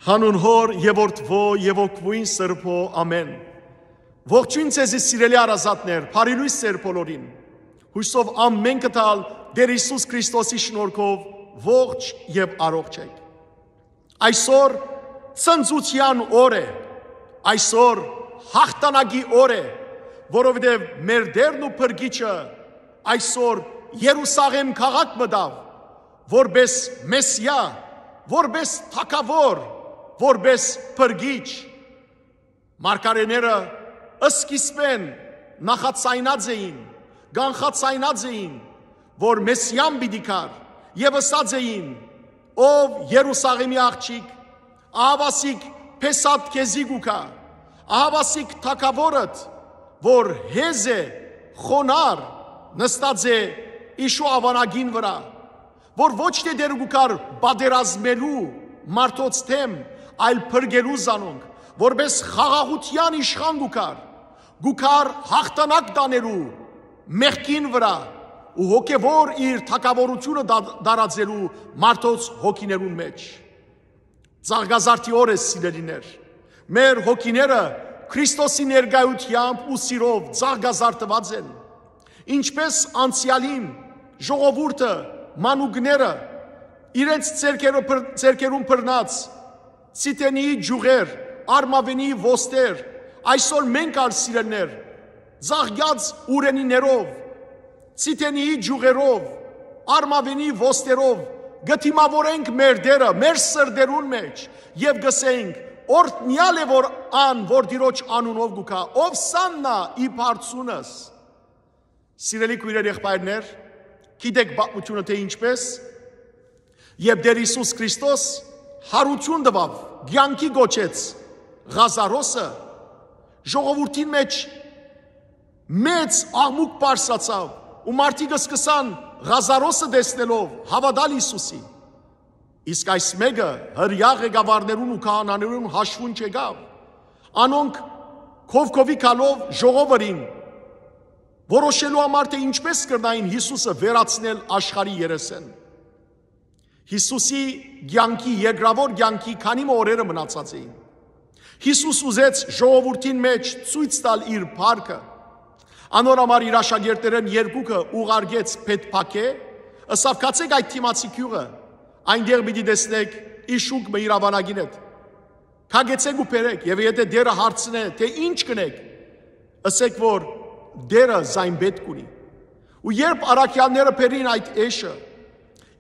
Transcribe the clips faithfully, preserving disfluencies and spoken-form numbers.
Հանուն Հօր եւ Որդւոյ եւ Հոգւոյն Սրբոյ, ամէն։ Ողջոյն ձեզի, սիրելի հարազատներ, բարի լոյս ձեր բոլորին։ Յուսով ամէնքը տալ Տէր Յիսուս Քրիստոսի շնորհքով ողջ եւ առողջ եք։ Այսօր ցնծութեան օր է, այսօր յաղթանակի օր է, որովհետեւ մեր Տէրն ու Փրկիչը այսօր Երուսաղէմ քաղաք մտաւ, որպէս Մեսիա, որպէս թագաւոր, որպէս Փրկիչ։ Մարգարէները սկիզբէն նախաձայնած էին, կանխաձայնած էին, որ Մեսիան պիտի գար, եւ ըսած էին. «Ով Երուսաղէմի աղջիկ, ահավասիկ Փեսատ քեզի կու գայ, ահավասիկ թագաւորդ, որ հեզ է, խոնար, նստած է իշու աւանակին վրայ, որ ոչ թէ դերը կու գար պատերազմելու մարդոց դէմ, այլ փրկելու զանոնք, որպէս խաղաղութեան իշխան կու գար, կու գար յաղթանակ տանելու մեղքին վրայ ու հոգեւոր իր թագաւորութիւնը դա-, տարածելու մարդոց հոգիներուն մէջ»։ Ծաղկազարդի օր է, սիրելիներ։ Մեր հոգիները Քրիստոսի ներկայութեամբ ու սիրով ծաղկազարդուած են։ Ինչպէս անցեալին ժողովուրդը, մանուկները իրենց ձեռքերը բռ-, ձեռքերուն բռնած Սիդենիի ճիւղեր, Արմավենի ոստեր, այսօր մենք ալ, սիրելիներ, ծաղկած ուրենիներով, Սիդենիի ճիւղերով, Արմավենի ոստերով կը դիմաւորենք մեր Տէրը, մեր սրտերուն մէջ, եւ կ'ըսենք. «Օրհնեալ է որ ան, որ Տիրոջ անունով կու գայ, Ովսաննա ի բարձունս»։ Սիրելի քոյրեր, եղբայրներ, գիտեք պատմութիւնը թէ ինչպէս, երբ Տէր Յիսուս Քրիստոս յարութիւն տուաւ, կեանքի կոչեց Ղազարոսը, ժողովուրդին մէջ մեծ աղմուկ բարձրացաւ ու մարդիկ սկսան Ղազարոսը տեսնելով հաւատալ Յիսուսի։ Իսկ այս մէկը հրեայ ղեկավարներուն ու քահանաներուն հաշուուն չեկաւ։ Անոնք քովքովի գալով ժողովը ըրին, որոշելու համար թէ ինչպէս կրնային Յիսուսը վերացնել աշխարհի երեսէն։ Յիսուսի կեանքի, երկրաւոր կեանքի քանի մը օրերը մնացած էին։ Յիսուս ուզեց ժողովուրդին մէջ ցոյց տալ իր փառքը։ Անոր համար իր աշակերտներէն երկուքը ուղարկեց Բեթփագէ, ըսաւ. «Գացէք այդ դիմացի գիւղը, այնտեղ պիտի տեսնէք իշուկ մը իր աւանակին հետ։ Գագեցէք ու բերէք, եւ եթէ Տէրը հարցնէ թէ ինչ կ'ընէք, ըսէք որ Տէրը զայն պէտք ունի»։ Ու երբ առաքեալները բերին այդ էշը,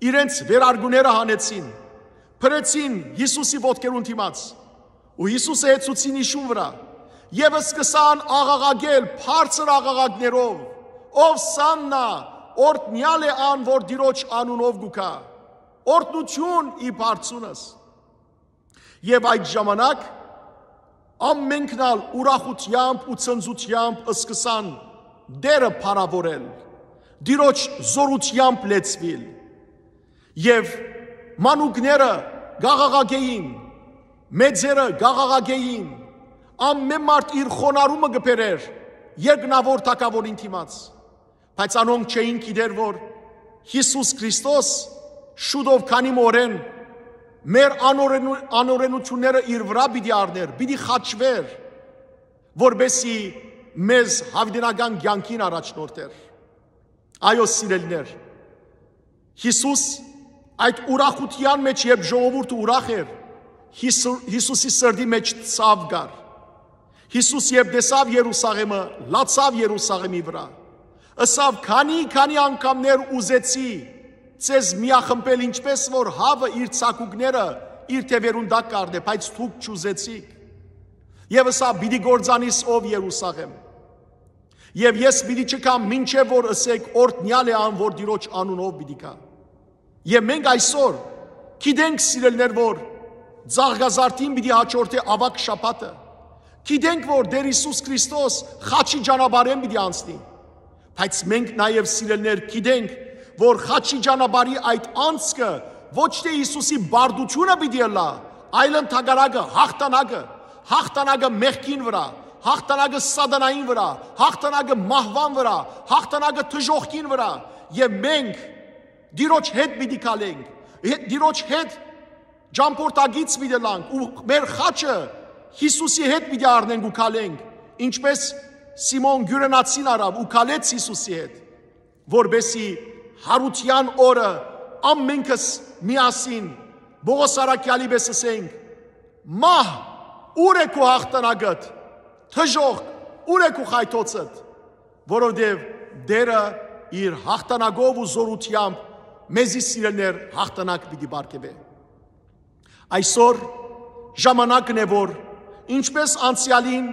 իրենց վերարկուները հանեցին, փռեցին Յիսուսի ոտքերուն դիմաց ու Յիսուսը հեծուցին իշուն վրայ, եւ սկսան աղաղակել բարձր աղաղակներով. «Ովսաննա, օրհնեալ է ան, որ Տիրոջ անունով կու գայ, օրհնութիւն ի բարձունս»։ Եւ այդ ժամանակ ամենքն ալ ուրախութեամբ ու ցնծութեամբ սկսան Տէրը փառաւորել, Տիրոջ զօրութեամբ լեցուիլ։ Եւ մանուկները կ'աղաղակէին, մեծերը կ'աղաղակէին, ամէն մարդ իր խոնարհումը կը բերէր երկնաւոր թագաւորին դիմաց։ Բայց անոնք չէին գիտեր, որ Յիսուս Քրիստոս շուտով քանի մը օրէն մեր անօրենու-, անօրենութիւնները իր վրայ պիտի առնէր, պիտի խաչուէր, որպեսզի մեզ յաւիտենական կեանքին առաջնորդէր։ Այո, սիրելիներ, Յիսուս այդ ուրախութեան մէջ, երբ ժողովուրդը ուրախ էր, Յիսու-, Յիսուսի սրտի մէջ ցաւ կար։ Յիսուս երբ տեսաւ Երուսաղէմը, լացաւ Երուսաղէմի վրայ։ Ըսաւ. «Քանի, քանի անգամներ ուզեցի ձեզ միախմբել, ինչպէս որ հաւը իր ցակուկները իր թեւերուն տակ կ'առնէ, բայց դուք չուզեցիք»։ Եւ ըսաւ. «Պիտի կործանիս ով Երուսաղէմ»։ Եւ ես պիտի չգամ, մինչեւ որ ըսէք. "Օրհնեալ է ան, որ Տիրոջ անունով պիտի գայ"։ Եւ մենք այսօր գիտենք, սիրելիներ, որ Ծաղկազարդին պիտի հաջորդէ աւագ շաբաթը։ Գիտենք, որ Տէր Յիսուս Քրիստոս խաչի ճանապարհէն պիտի անցնի։ Բայց մենք նաեւ, սիրելիներ, գիտենք, որ խաչի ճանապարհի այդ անցքը ոչ թէ Յիսուսի բարդութիւնը պիտի ըլլայ, այլ ընդհակառակը հաղթանակը, հաղթանակը մեղքին վրայ, հաղթանակը սատանային վրայ, հաղթանակը մահուան վրայ, հաղթանակը դժոխքին վրայ։ Եւ մենք Տիրոջ հետ պիտի գալենք, հետ, Տիրոջ հետ ճամբորդակից պիտի ըլլանք ու մեր խաչը Յիսուսի հետ պիտի առնենք ու քալենք, ինչպես Սիմոն Կիւրենացին առաւ ու քալեց Յիսուսի հետ, որպէսզի յարութեան օրը ամենքս միասին Պողոս առաքեալի պէս ըսենք. «Մահ, ո՞ւր է քու յաղթանակդ, դժոխք, ո՞ւր է քու խայթոցդ»։ Որովհետեւ Տէրը իր յաղթանակով ու զօրութեամբ մեզի, սիրելիներ, յաղթանակ պիտի պարգեւէ։ Այսօր ժամանակն է, որ, ինչպես անցեալին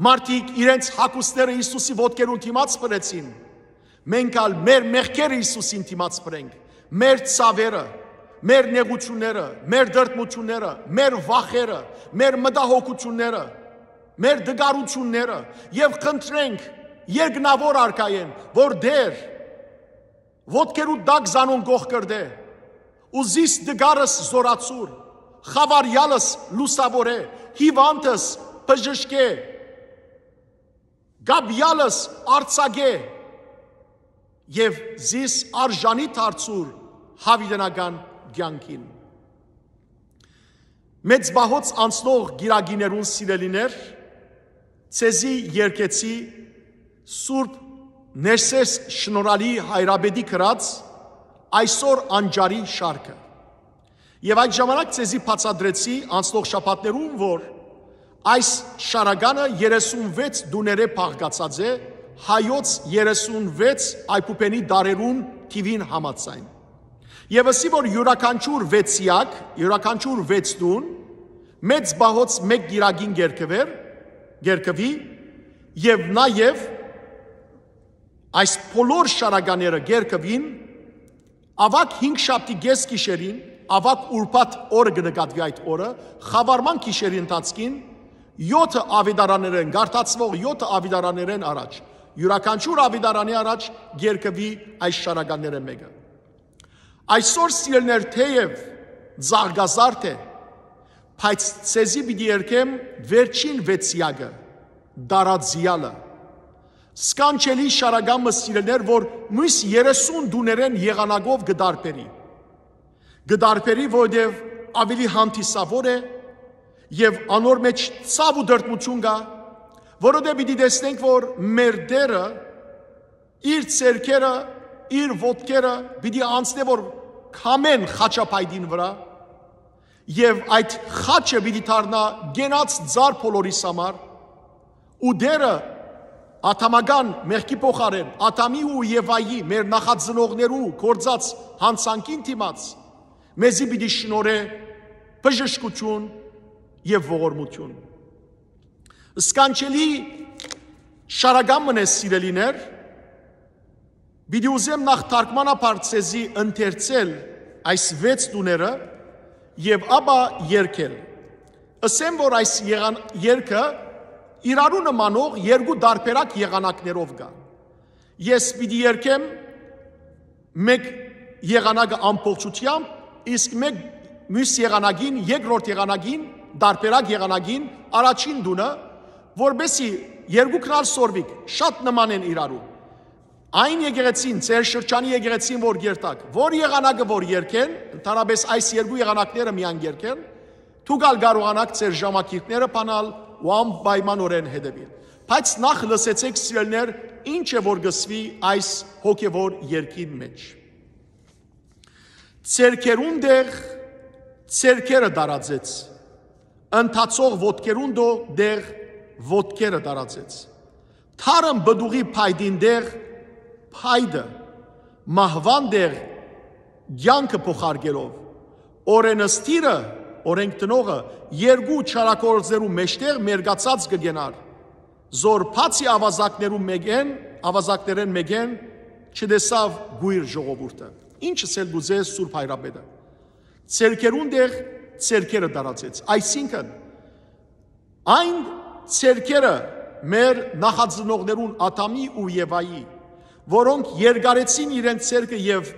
մարդիկ իրենց հագուստները Յիսուսի ոտքերուն դիմաց փռեցին, մենք ալ մեր մեղքերը Յիսուսին դիմաց փռենք, մեր ցաւերը, մեր նեղութիւնները, մեր տրտմութիւնները, մեր վախերը, մեր մտահոգութիւնները, մեր տկարութիւնները, եւ խնդրենք երկնաւոր արքայէն, որ Տէր, ոտքերուդ տակ զանոնք կողքրտէ ու զիս տկարս զօրացուր, խաւարեալս լուսաւորէ, հիւանդս բժշկէ, կապեալս արձակէ եւ զիս արժանի դարձուր յաւիտենական կեանքին։ Մեծ պահոց անցնող կիրակիներուն, սիրելիներ, ձեզի երգեցի Սուրբ Ներսես Շնորհալի հայրապետի գրած «Այսօր անճարի» շարքը։ Եւ այդ ժամանակ ձեզի բացատրեցի անցնող շաբաթներուն, որ այս շարականը երեսունվեց տուներէ բաղկացած է, հայոց երեսունվեց այբուբենի դարերուն թիւին համաձայն։ Եւ ըսի, որ իւրաքանչիւր վեցեակ, իւրաքանչիւր վեց տուն, մեծ պահոց մէկ կիրակին կերկվեր, կերկվի, եւ նաեւ այս բոլոր շարակաները կերկվին, աւագ հինգշաբթի կէս գիշերին, աւագ ուրբաթ օրը կը նկատուի այդ օրը, խաւարման գիշերի ընթացքին, յոթը աւետարաններէն, գարթացուող յոթը աւետարաններէն առաջ, իւրաքանչիւր աւետարանի առաջ կերկվի այս շարականներէն մէկը։ Այսօր, սիրելիներ, թեեւ ծաղկազարդ է, բայց ձեզի պիտի երգեմ վերջին վեցեակը, դարածեալը։ Սքանչելի շարական մը, սիրելիներ, որ միւս երեսուն տուներէն եղանակով կը տարբերի։ Կը տարբերի, որովհետեւ աւելի հանդիսաւոր է եւ անոր մէջ ցաւ ու տրտմութիւն կայ, որովհետեւ պիտի տեսնենք, որ մեր Տէրը իր ձեռքերը, իր ոտքերը պիտի անցնէ, որ քամեն խաչապայտին վրայ, եւ այդ խաչը պիտի դառնայ կենաց ծառ բոլորիս համար, ու Տէրը ադամական մեղքի փոխարէն, Ադամի ու Եվայի, մեր նախածնողներու գործած յանցանքին դիմաց, մեզի պիտի շնորհէ բժշկութիւն եւ ողորմութիւն։ Սքանչելի շարական մը է, սիրելիներ, պիտի ուզեմ նախ թարգմանաբար ձեզի ընթերցել այս վեց տուները եւ ապա երգել։ Ըսեմ, որ այս եղան-, երգը իրարու նմանող երկու տարբերակ եղանակներով կայ։ Ես պիտի երգեմ մէկ եղանակը ամբողջութեամբ, իսկ մէկ միւս եղանակին, երկրորդ եղանակին, տարբերակ եղանակին, առաջին տունը, որպեսզի երկուքն ալ սորվիք, շատ նման են իրարու։ Այն եկեղեցին, ձեր շրջանի եկեղեցին, որ երթաք, որ եղանակը որ երգեն, ընդհանրապես այս երկու եղանակները միայն երգեն, դուք ալ կարողանաք ձեր ժամագիրները բանալ ու անպայմանօրէն հետեւիլ։ Բայց նախ լսեցէք, սիրելիներ, ինչ է որ կսուի այս հոգեվոր երգին մէջ։ Ձերքերուն տեղ ձերքերը տարածեց, ընթացող ոտքերուն տո-, տեղ ոտքերը տարածեց, թարմ պտուղի փայտին տեղ փայտը, մահուան տեղ կեանքը փոխարկելով, օրենսդիրը, օրենք տնողը, երկու չարագործներու մէջտեղ մերկացած կը կենար, զոր բացի աւազակներու մէկէն, աւազակներէն մէկէն չտեսաւ կոյր ժողովուրդը։ Ինչ ըսել կ'ուզէ Սուրբ Հայրապետը։ Ձերքերուն տեղ ձերքերը տարածեց, այսինքն, այն ձերքերը մեր նախածնողներուն Ադամի ու Եվայի, որոնք երկարեցին իրենց ձերքը եւ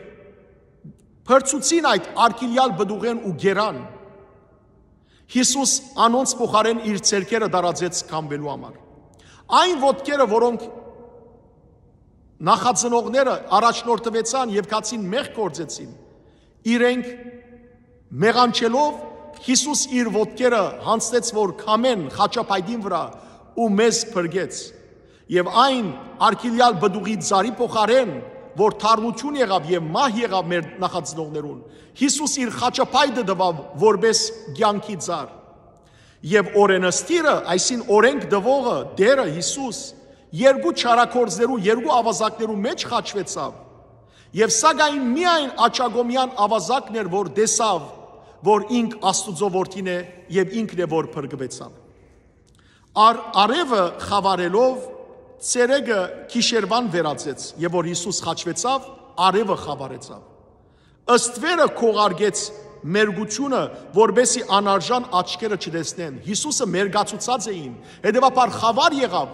փրցուցին այդ արգիլեալ պտուղէն ու կերան, Յիսուս անոնց փոխարէն իր ձերքերը տարածեց քամվելու համար։ Այն ոտքերը, որոնք նախածնողները առաջնորդուեցան եւ գացին մեղք գործեցին, իրենք Մեղանչելով՝ Յիսուս իր ոտքերը յանձնեց որ քամեն խաչափայտին վրայ ու մեզ փրկեց։ Եւ այն արգիլեալ պտուղի ծառի փոխարէն, որ թարմութիւն եղաւ եւ մահ եղաւ մեր նախածնողներուն, Յիսուս իր խաչափայտը տուաւ որպէս կեանքի ծառ։ Եւ օրէնսդիրը, այսին օրէնք տուողը, Տէրը Յիսուս, երկու չարագործներու, երկու աւազակներու մէջ խաչուեցաւ։ Եւ սակայն միայն աջակողմեան աւազակն էր որ տեսաւ որ ինք Աստուծոյ որդին է, եւ ինքն է որ փրկուեցաւ։ Առ- արեւը խաւարելով՝ ցերեկը գիշերուան վերածեց, եւ որ Յիսուս խաչուեցաւ, արեւը խաւարեցաւ։ Ըստ վերը քողարկեց մերկությունը, որպեսզի անարժան աչքերը չտեսնեն։ Յիսուսը մերկացուցած էին, հետեւաբար խաւար եղաւ,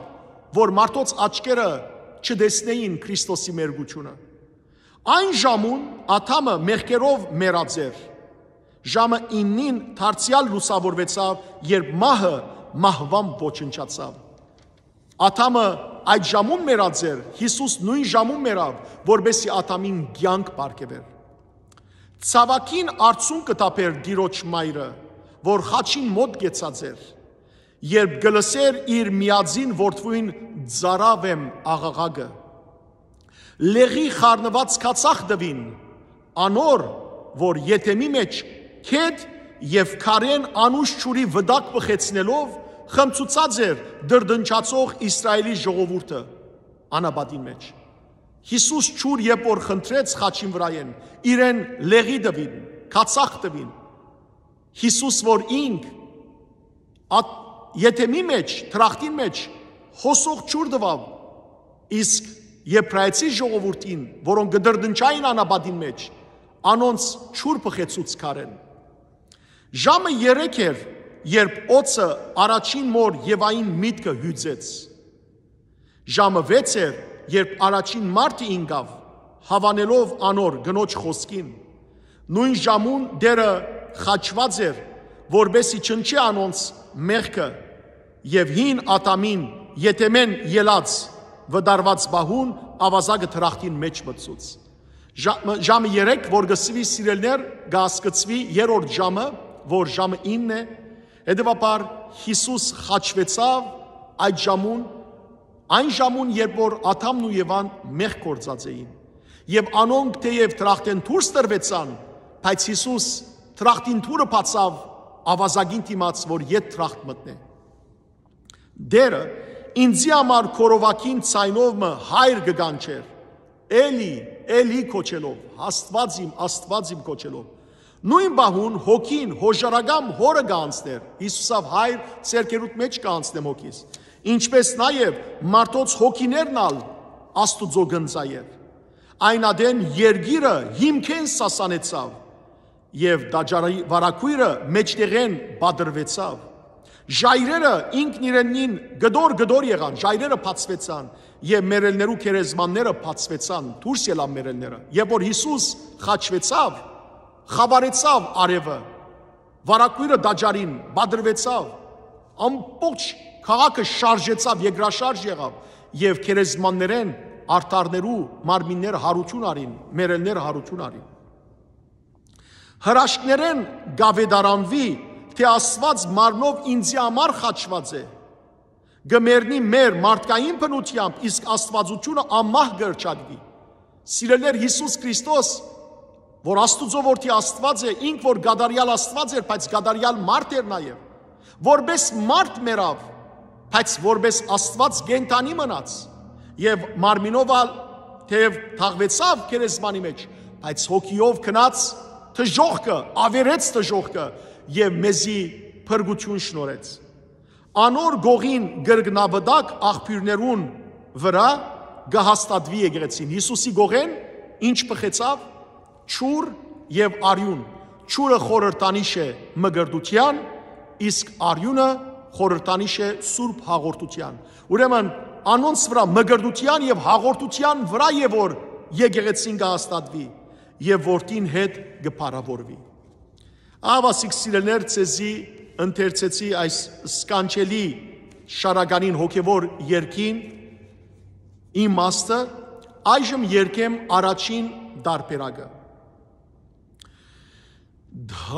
որ մարդոց աչքերը չտեսնեին Քրիստոսի մերկությունը։ Այն ժամուն Ադամը մեղքերով մեռած էր։ Ժամը իննին դարձեալ լուսաւորուեցաւ, երբ մահը մահուան ոչնչացաւ։ Ադամը այդ ժամուն մեռած էր, Յիսուս նոյն ժամուն մեռաւ, որպեսզի Ադամին կեանք պարգեւէր։ Ցաւագին արցունքը տաբեր Տիրոջ մայրը, որ խաչին մօտ կեցած էր, երբ կը լսէր իր միածին որդւոյն ծարաւ եմ աղաղակը։ Լեղի խառնուած քացախ տուին անոր, որ եթեմի մէջ քետ եւ քարէն անուշ ջուրի վտակ բխեցնելով՝ խմցուցած էր դրդնչացող Իսրայէլի ժողովուրդը անապատին մէջ։ Յիսուս ջուր երբ որ խնդրեց խաչին վրայէն, իրեն լեղի տուին, քացախ տուին։ Յիսուս որ ինք ատ- եթեմի մէջ, դրախտին մէջ հոսող ջուր տուաւ, իսկ Եբրայեցի ժողովուրդին, որոնք կը դրդնչային անապատին մէջ, անոնց ջուր բխեցուց քարէն։ Ժամը երեք էր, երբ օծը առաջին մոր Եվային միտքը հիւծեց։ Ժամը վեց էր, երբ առաջին մարդը ինկաւ, հաւանելով անոր կնոջ խօսքին։ Նոյն ժամուն Տէրը խաչուած էր, որպեսզի չնչէ անոնց մեղքը, եւ հին Ադամին եթեմէն ելած վտարուած պահուն աւազակը դրախտին մէջ մտցուց։ Ժամը, ժամը երեք, որ կը սուի սիրելներ, կ'ասկցուի երրորդ ժամը, որ ժամը ինն է։ Հետեւաբար Յիսուս խաչուեցաւ այդ ժամուն, այն ժամուն, երբ որ Ադամն ու Եվան մեղք գործած էին։ Եւ անոնք թեեւ դրախտէն դուրս տրուեցան, բայց Յիսուս դրախտին դուռը բացաւ աւազակին դիմաց, որ ետ դրախտ մտնէ։ Տէրը ինծի համար գորովագին ձայնով մը հայր կը կանչէր, «Էլի, Էլի» կոչելով, «Աստուած իմ, Աստուած իմ» կոչելով։ Նոյն պահուն հոգին հոժարական հորը կ'անցնէր, Յիսուսաւ հայր, ձեռքերուդ մէջ կ'անցնեմ հոգիս, ինչպէս նաեւ մարդոց հոգիներն ալ Աստուծոյ կ'ընծայէր։ Այն ատեն երկիրը հիմքէն սասանեցաւ, եւ տաճարի վարագոյրը մէջտեղէն պատռուեցաւ։ Ժայռերը ինքն իրենին կտոր-կտոր եղան, ժայռերը բացուեցան, եւ մեռելներու գերեզմանները բացուեցան, դուրս ելան մեռելները։ Երբ որ Յիսուս խաչուեցաւ, խաւարեցաւ արեւը, վարագոյրը տաճարին պատռուեցաւ, ամբողջ քաղաքը շարժեցաւ, երկրաշարժ եղաւ, եւ գերեզմաններէն արդարներու մարմինները յարութիւն առին, մեռելները յարութիւն առին։ Հրաշքներէն կ'աւետարանուի, թէ Աստուած մարմնով ինծի համար խաչուած է։ Կը մեռնի մեր մարդկային բնութեամբ, իսկ աստուածութիւնը անմահ կը հռչակուի։ Սիրելիներ, Յիսուս Քրիստոս, որ Աստուծոյ որդի Աստուած է, ինք որ կատարեալ Աստուած էր, բայց կատարեալ մարդ էր նաեւ, որպէս մարդ մեռաւ, բայց որպէս Աստուած կենդանի մնաց, եւ մարմինով ալ թեեւ թաղուեցաւ գերեզմանի մէջ, բայց հոգիով գնաց դժոխքը, աւերեց դժոխքը եւ մեզի փրկութիւն շնորհեց։ Անոր կողին կրկնավտակ աղբիւրներուն վրայ կը հաստատուի եկեղեցին։ Յիսուսի կողէն ինչ բխեցաւ, ջուր եւ արիւն։ Ջուրը խորհրդանիշ է մկրտութեան, իսկ արիւնը խորհրդանիշ է սուրբ հաղորդութեան։ Ուրեմն անոնց վրայ, մկրտութեան եւ հաղորդութեան վրայ է որ եկեղեցին կը հաստատուի եւ որդին հետ կը փառաւորուի։ Ահա, սիրելիներ, ձեզի ընթերցեցի այս սքանչելի շարականին հոգեվոր երկին իմաստը, այժմ երկեմ առաջին տարբերակը։ Դարածյալ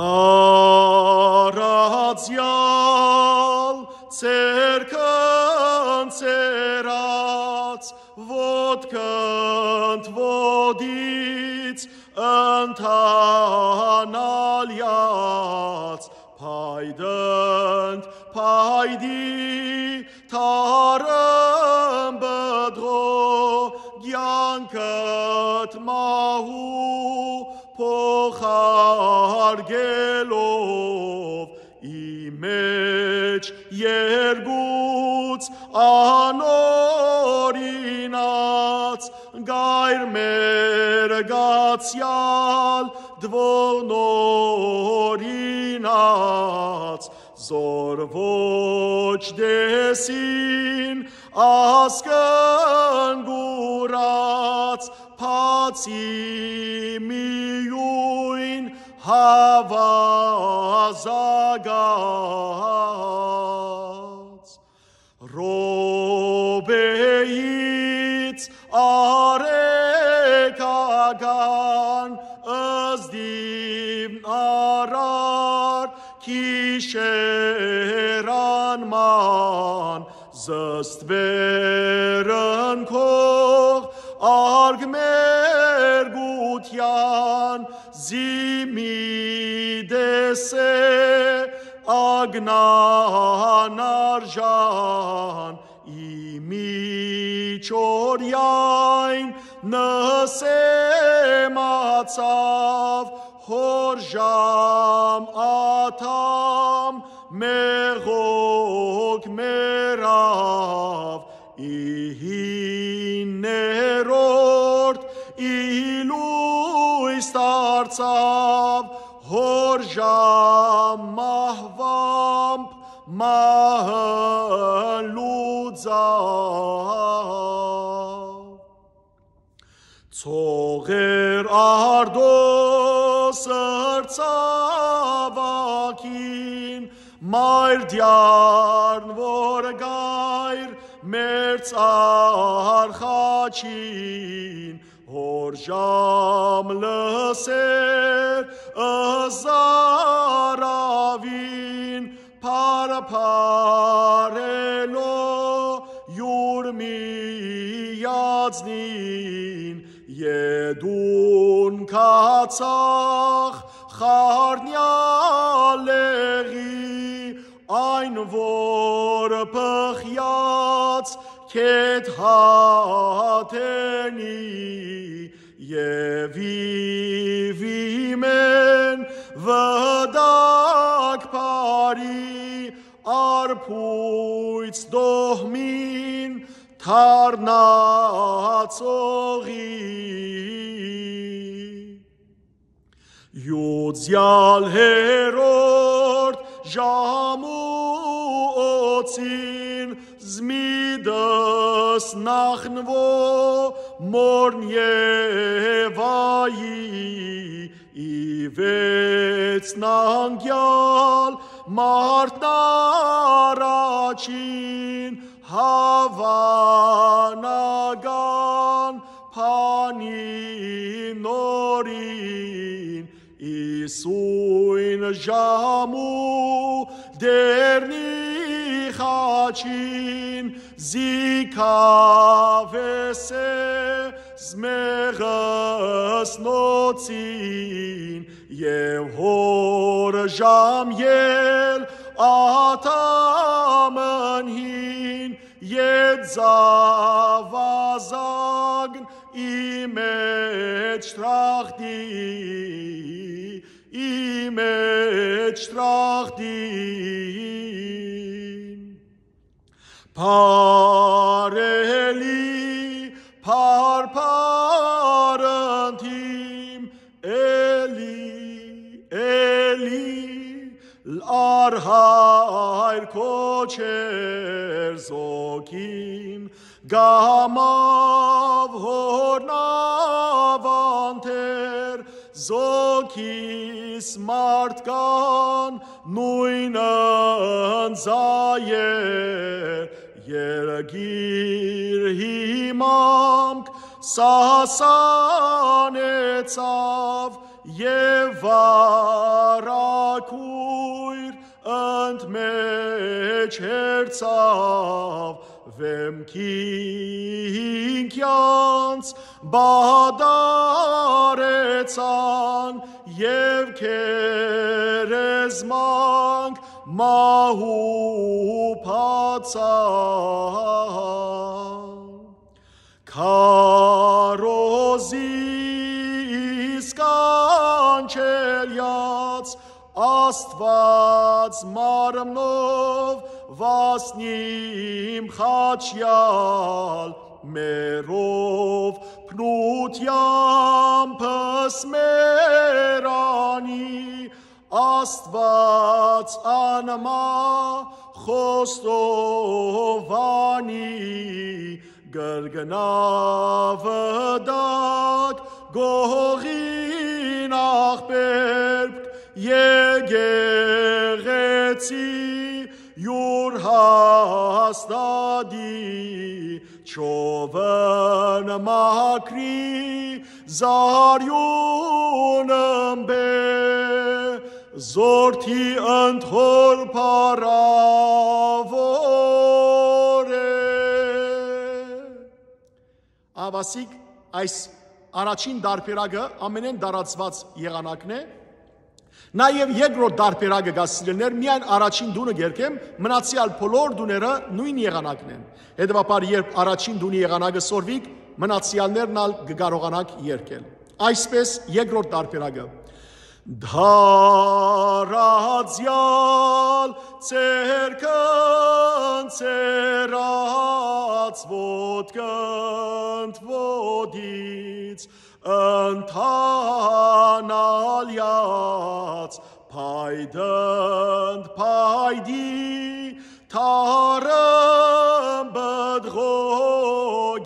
ձեռքն ծերած, ոտքն ոտից ընթանալյաց, փայտընդ փայտի թարմ պտղո, կեանքդ մահու փոխարկելով, ի մէջ երկուց անօրինած, գայր մեր գացեալ դվող նորինած, զոր ոչ տեսին ասկն կուրած, բացի միոյն հաւազագած։ Ռոպեից արեգական, ըզդիվ արար գիշեր անման, զստվերն քող արգ մեր գութեան, զի մի տեսէ ագնան արժան, ի միջօրեայն նսեմացաւ, հոր ժամ ադամ մեղոք մեռաւ, ի հիններորդ ի լոյս դարձաւ, հոր ժամ մահուամբ մահն լուծաւ։ Ցողեր արտոս ըրցաւ ակին, մայր դիարն որ գայր մերձ արխաչին, հոր ժամ լսեր ըզարավին, փարփարելով յուր միածնին, ետուն քացախ խառնեալ լեղի, այն որ բխեաց քեթ հատենի, եւ իվիմեն վտակ բարի, արբոյց դոհմին դառնացողի։ Յուծեալ հերորդ ժամու օծին, զմիտս նախնուո մորն Եվայի, ի վեցնանկեալ մարդն առաջին, հաւանական բանի նորին, իսոյն ժամու դերնի խաչին, զի քաւեսե զմեղսնոցին, եւ հոր ժամ ել ադամն հին, ետ զաւազագն ի մէջ տրախտի, ի մէջ տրախտին։ Բարելի, փարփար ընթիմ, էլի, էլի, լար հայր քոչեր զոքին, գամաւ հորնաւ անթեր, զոքիս մարդկան նոյնն զայեր, երկիր հիմամք սասանեցաւ, Եւ վարագոյր ընդ մէջ հերձաւ, վէմքին կեանց պատառեցան, եւ գերեզմանք մահու բացան։ Քարոզի սքանչելեաց, Աստուած մարմնով վասնիմ խաչեալ, մերով փնութեամբս մեռանի, Աստուած անմահ խոստովանի, կրկնաւ տակ գողին աղբերք, եկեղեցի յուր հաստատի, չովն մաքրի, զարիուն ըմպէ, զորդի ընդ հօր փառաւոր է։ Ահա, սիկ այս առաջին տարբերակը ամենէն տարածուած եղանակն է։ Նաեւ երկրորդ տարբերակը կա, սիրելիներ, միայն առաջին տունը կերկեմ, մնացեալ բոլոր տուները նոյն եղանակն են։ Հետեւաբար, երբ առաջին տունի եղանակը սորվիք, մնացեալներն ալ կը կարողանաք երգել։ Այսպէս, երկրորդ տարբերակը. Դարածյալ ձերքն ձեռած, ոտքն ոտից ընթանալեաց, փայտն փայտի թառն պտղո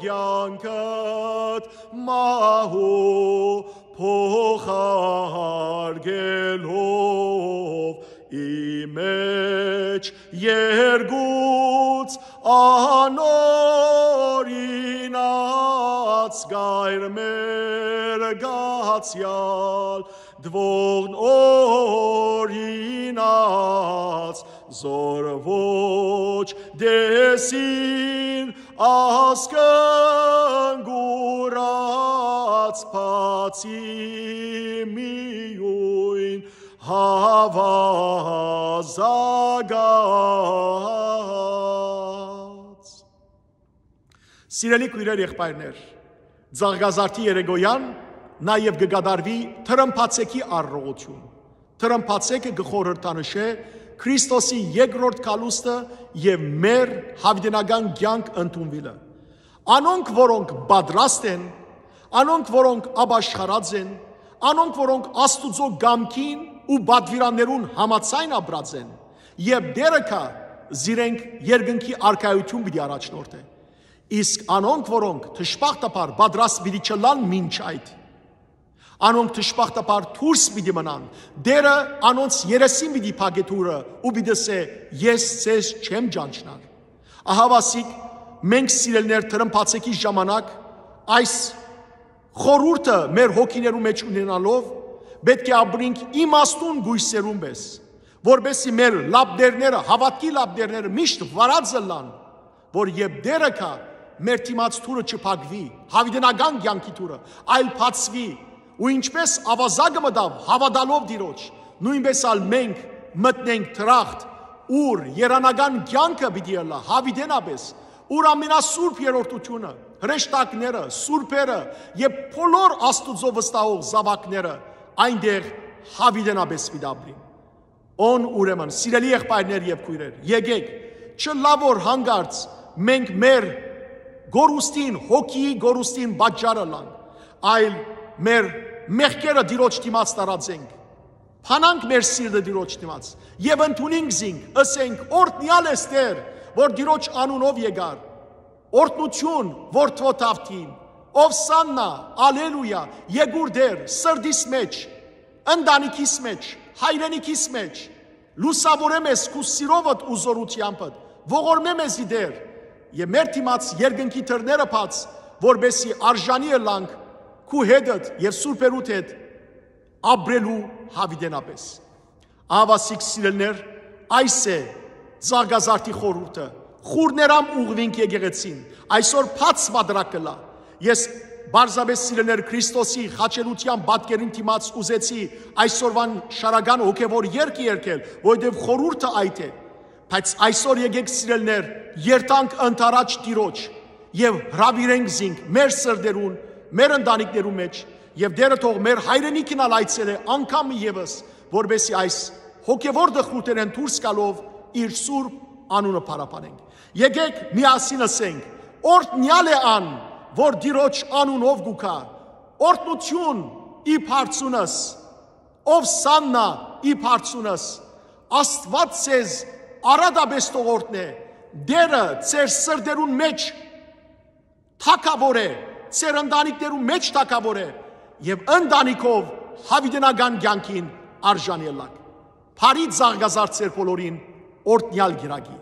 կեանքդ մահու փոխարկելով, ի մեջ երկուց անօրինաց գայր մեր գացեալ, դվողն օրինաց զոր ոչ տեսին ասկն գուրած, բացի միոյն հաւազագած։ Սիրելի քոյրեր, եղբայրներ, Ծաղկազարդի երեկոյան նաեւ կը կատարուի Թրմփացեքի արարողութիւն։ Թրմփացեքը կը խորհրդանշէ Քրիստոսի երկրորդ գալուստը եւ մեր յաւիտենական կեանք ընդունուիլը։ Անոնք, որոնք պատրաստ են, անոնք, որոնք ապաշխարած են, անոնք, որոնք Աստուծոյ կամքին ու պատուիրաններուն համաձայն ապրած են, եւ Տէրը կայ, զիրենք երկնքի արքայութիւն պիտի առաջնորդէ։ Իսկ անոնք, որոնք դժբախտաբար պատրաստ պիտի չըլլան մինչ այդ, անոնք դժբախտաբար դուրս պիտի մնան, Տէրը անոնց երեսին պիտի փակէ դուռը ու պիտի ըսէ. «Ես ձեզ չեմ ճանչնար»։ Ահա, ասիկ, մենք, սիրելիներ, Թրմփացեքի ժամանակ այս խորհուրդը մեր հոգիներու մէջ ունենալով, պէտք է ապրենք իմաստուն կոյսերուն պէս, որպեսզի մեր լապտերները, հաւատքի լապտերները միշտ վարած ըլլան, որ երբ Տէրը գայ, մեր դիմաց դուռը չփակուի, յաւիտենական կեանքի դուռը, այլ բացուի, ու ինչպէս աւազակը մտաւ հաւատալով Տիրոջ, նոյնպէս ալ մենք մտնենք դրախտ, ուր երանական կեանքը պիտի ըլլայ յաւիտենապէս, ուր ամենասուրբ երրորդութիւնը, հրեշտակները, սուրբերը եւ բոլոր Աստուծոյ վստահող զաւակները այնտեղ յաւիտենապէս պիտի ապրին։ Ուն ուրեմն, սիրելի եղբայրներ եւ քոյրեր, եկէք, չըլլայ որ յանկարծ մենք մեր կորուստին, հոգիի կորուստին պատճառ ըլլանք, այլ մեր մեղքերը Տիրոջ դիմաց տարածենք, բանանք մեր սիրտը Տիրոջ դիմաց եւ ընդունինք զինք, ըսենք. «Օրհնեալ ես, Տէր, որ Տիրոջ անունով եկար»։ Օրհնութիւն, Որդւոյ Դաւթին, Ովսաննա, Ալելույա, եկուր Տէր, սրտիս մէջ, ընտանիքիս մէջ, հայրենիքիս մէջ, լուսաւորէ մեզ քու սիրովդ ու զօրութեամբդ, ողորմէ մեզի, Տէր, եւ մեր դիմաց երկնքի դռները բաց, որպեսզի արժանի ըլլանք քու հետդ եւ սուրբերուդ հետ ապրելու հավիտենապէս։ Ահաւասիկ սիրելիներ, այս է Ծաղկազարդի խորհուրդը. «Խուռներամ ուղղուինք եկեղեցին»։ Այսօր բաց մակարդակ կ'ըլլայ։ Ես պարզապէս, սիրելիներ, Քրիստոսի խաչելութեան պատկերին դիմաց ուզեցի այսօրուան շարական հոգեւոր երգ երգել, որովհետեւ խորհուրդը այդ է։ Բայց այսօր եկեք, սիրելիներ, երթանք ընդառաջ Տիրոջ եւ հրաւիրենք զինք մեր սրտերուն, մեր ընտանիքներուն մէջ, եւ Տէրը թող մեր հայրենիքին ալ այցելէ անգամ ևս, որպեսզի այս հոգեվոր տխրութենէն դուրս գալով իր սուրբ անունը փառաբանենք։ Եկեք միասին ըսենք. «Օրհնեալ է ան, որ Տիրոջ անունով կու գայ։ Օրհնութիւն ի բարձունս, ովսաննա ի բարձունս։ Աստուած ձեզ առատապէս թող օրհնէ։ Տէրը ձեր սրտերուն մէջ թագաւոր է, ձեր ընտանիքներուն մէջ թագաւոր է, եւ ընտանիքով հավիտենական կեանքին արժան ելլաք»։ Բարի Ծաղկազարդ ձեր բոլորին, օրհնեալ կիրակի։